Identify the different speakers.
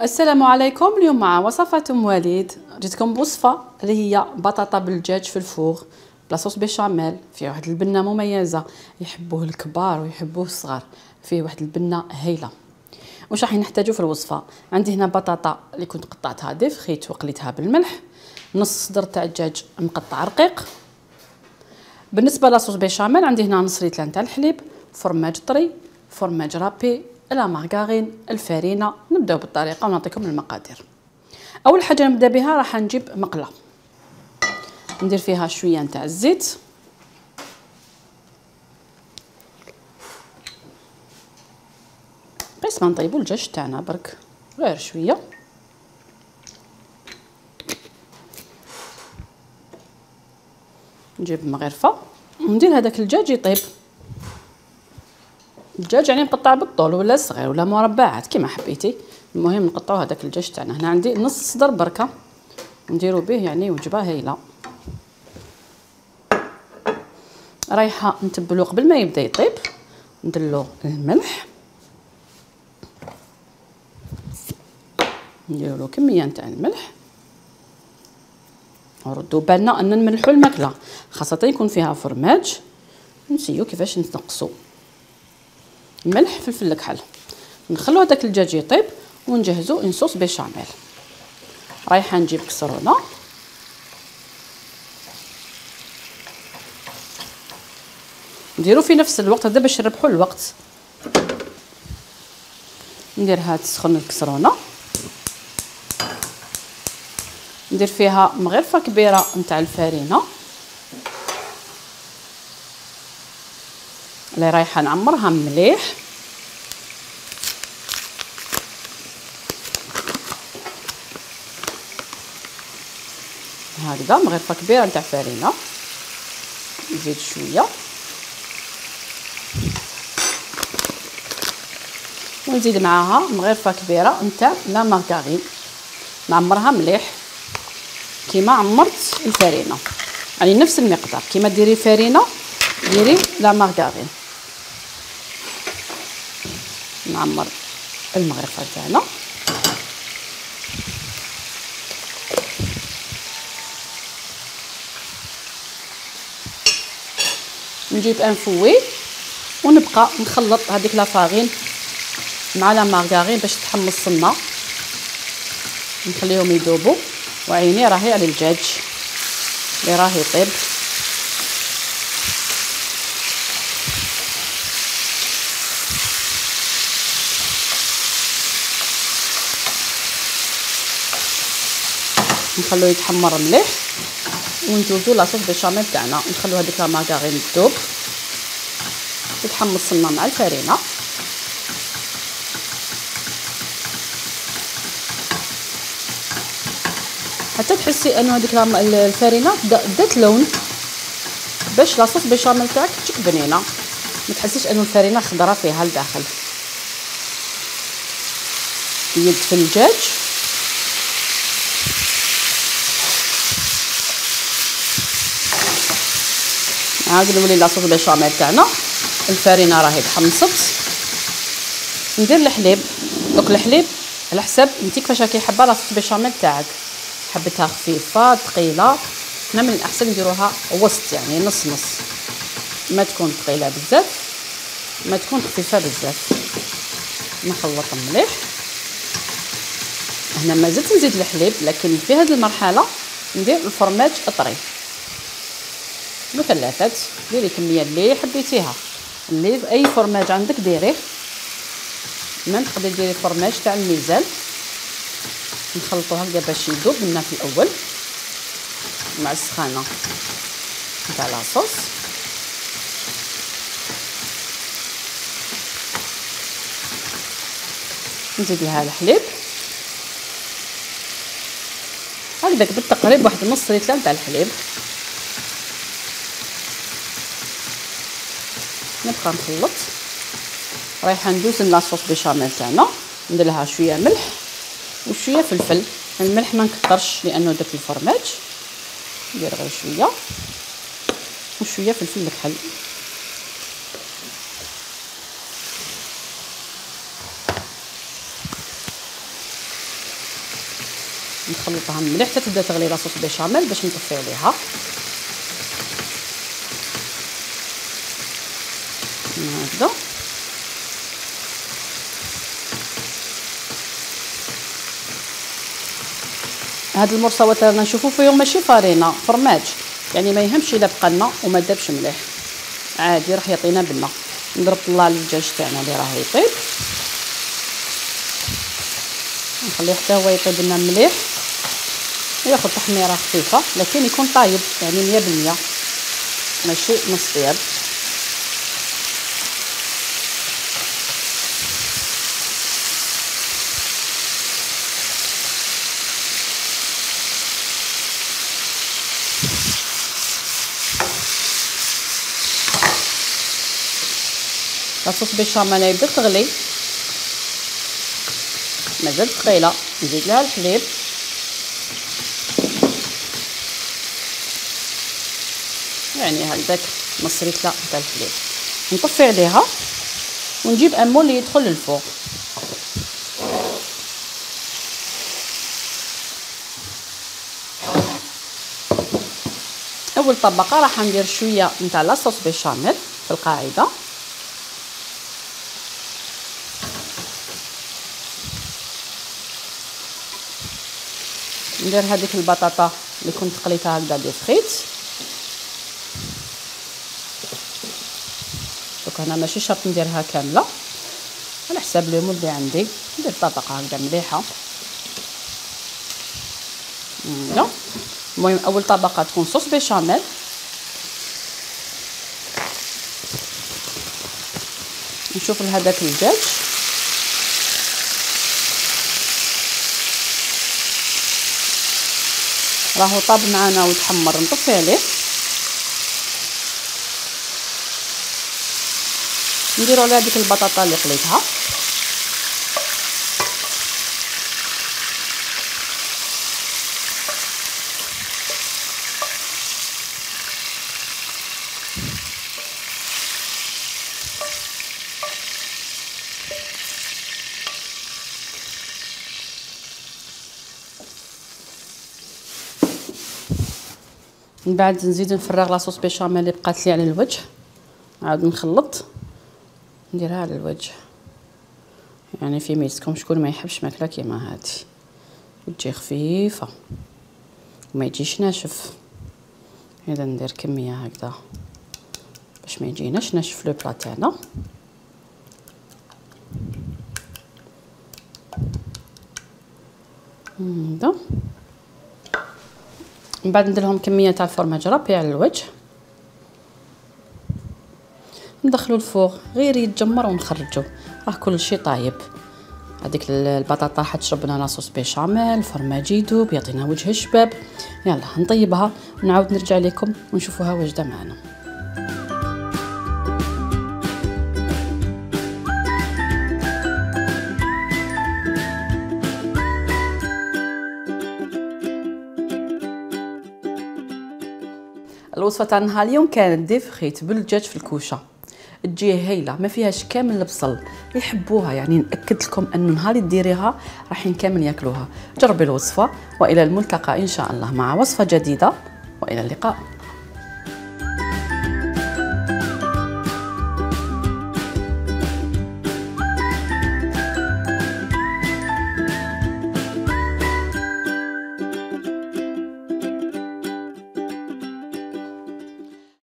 Speaker 1: السلام عليكم. اليوم مع وصفة ام وليد جيتكم بوصفة اللي هي بطاطا بالدجاج في الفوغ بلا صوص بيشاميل. فيه واحد البنة مميزة يحبوه الكبار ويحبوه الصغار، فيه واحد البنة هايلة. واش راح نحتاجو في الوصفة؟ عندي هنا بطاطا اللي كنت قطعتها ديفخيت وقليتها بالملح، نص صدر تاع الدجاج مقطع رقيق. بالنسبة لاصوص بيشاميل عندي هنا نص لتر تاع الحليب، فرماج طري، فرماج رابي، لا مارغارين، الفارينه. نبداو بالطريقه ونعطيكم المقادير. اول حاجه نبدا بها راح نجيب مقله ندير فيها شويه نتاع الزيت، قيس ما نطيبوا الدجاج تاعنا برك غير شويه. نجيب مغرفه وندير هذاك الدجاج يطيب. الدجاج يعني مقطع بالطول ولا صغير ولا مربعات كيما حبيتي، المهم نقطعوا هذاك الدجاج تاعنا. هنا عندي نص صدر بركه نديروا به يعني وجبه هايله. رايحه نتبلو قبل ما يبدا يطيب، نديرلو الملح، نديروا له كميه نتاع الملح، وردوا بالنا ان نملحوا الماكله خاصه يكون فيها فرماج. نسيو كيفاش نقصوا ملح فلفل الكحل. نخلو هذاك الدجاج يطيب ونجهزو ان صوص بيشاميل. رايحه نجيب كسرونه نديرو في نفس الوقت هذا باش نربحوا الوقت. نديرها تسخن الكسرونه، ندير فيها مغرفه كبيره نتاع الفارينه اللي رايحه نعمرها مليح. هكذا مغرفه كبيره نتاع فارينه، نزيد شويه ونزيد معاها مغرفه كبيره نتاع لا مارغارين، نعمرها مليح كيما عمرت الفارينه، يعني نفس المقدار كيما ديري فارينه ديري لا مارغارين. نعمر المغرفه تاعنا نجيب ان فوي ونبقى نخلط هذيك لا فارين مع لا مارغارين باش تحمصنا، نخليهم يذوبوا. وعيني راهي على الدجاج اللي راه يطيب. نخلوه يتحمر مليح ونجوزو لاصوص بيشاميل تاعنا. نخلو هذيك لا مارغارين تذوب تتحمص لنا مع الفارينه. حتى تحسي انه هذيك الفارينه دات لون باش لاصوص بيشاميل تاعك تجيك بنينه، ما تحسيش انه الفارينه خضره فيها لداخل. يد في الدجاج عاد نولي لاصوص بيشاميل تاعنا. الفارينه راهي تحمصت. ندير الحليب. دوك الحليب على حساب انت كيفاش راكي حابه لاصوص بيشاميل تاعك، حبيتها خفيفه ثقيله. حنا من الاحسن نديروها وسط يعني نص نص، ما تكون ثقيله بزاف ما تكون خفيفه بزاف. نخلط مليح. هنا ما زلت نزيد الحليب، لكن في هذه المرحله ندير الفرماج الطري مثلثات. ديري الكميه اللي حبيتيها، اللي اي فرماج عندك ديريه. ما تقدري ديري فرماج تاع الميزان. نخلطوها هكذا باش يذوب لنا في الاول مع السخانه نتاع لاصوص. نزيد لها الحليب هكذاك بالتقريب، واحد نص لتر نتاع الحليب. نبقى نخلط. رايحه ندوز لاصوص بيشاميل تاعنا، ندير لها شويه ملح وشويه فلفل. الملح ما نكثرش لانه داك الفرماج، ندير غير شويه وشويه فلفل الكحل. نخلطها مليح حتى تبدا تغلي لاصوص بيشاميل باش نطفي عليها. هكذا هاد المرصوات رانا نشوفوا فيهم ماشي فارينه، فرماج، يعني ما يهمش الا بقى لنا وما دابش مليح، عادي راح يعطينا بنه. نضرب طلع الدجاج تاعنا اللي راه يطيب، نخليه حتى هو يطيب لنا مليح وياخذ تحميره خفيفه، لكن يكون طايب يعني 100%، ماشي نص طياب. لاصوص بيشاميل بدات تغلي، مازال ثقيله، نزيد لها الحليب يعني هكذاك نص ريتله تاع الحليب، نطفي عليها ونجيب ان مول اللي يدخل للفوق. اول طبقه راح ندير شويه نتاع لاصوص بيشاميل في القاعده، ندير هذيك البطاطا اللي كنت قليتها هكذا دي فريت. دوك انا ماشي شرط نديرها كامله، على حساب لي مود اللي عندي ندير طبقه هكذا مليحه. المهم اول طبقه تكون صوص بيشاميل، نشوف لهذاك الدجاج راهو طاب معنا وتحمر، نطفي عليه، نديرو على هذيك البطاطا اللي قليتها، من بعد نزيد نفرغ لاصوص بيشاميل اللي بقات لي على الوجه، عاد نخلط نديرها على الوجه، يعني في ميزتكم شكون ما يحبش ماكله كيما هادي وتجي خفيفه وما يجيش ناشف. اذا ندير كميه هكذا باش ما يجيناش ناشف لو بلا تاعنا. هذا من بعد ندير لهم كميه تاع الفرماج رابي على الوجه، ندخلو الفوغ غير يتجمر ونخرجو، راه كل شيء طايب. هذيك البطاطا حتشرب لنا لاصوص بيشاميل، الفرماج يذوب يعطينا وجه الشباب. يلا نطيبها ونعاود نرجع لكم ونشوفوها واجده معنا. الوصفه تاع نهار اليوم كانت دي فريت بالدجاج في الكوشه، تجي هايله ما فيهاش كامل البصل، يحبوها يعني ناكد لكم انه نهار ديريها راحين كامل ياكلوها. جربي الوصفه والى الملتقى ان شاء الله مع وصفه جديده والى اللقاء.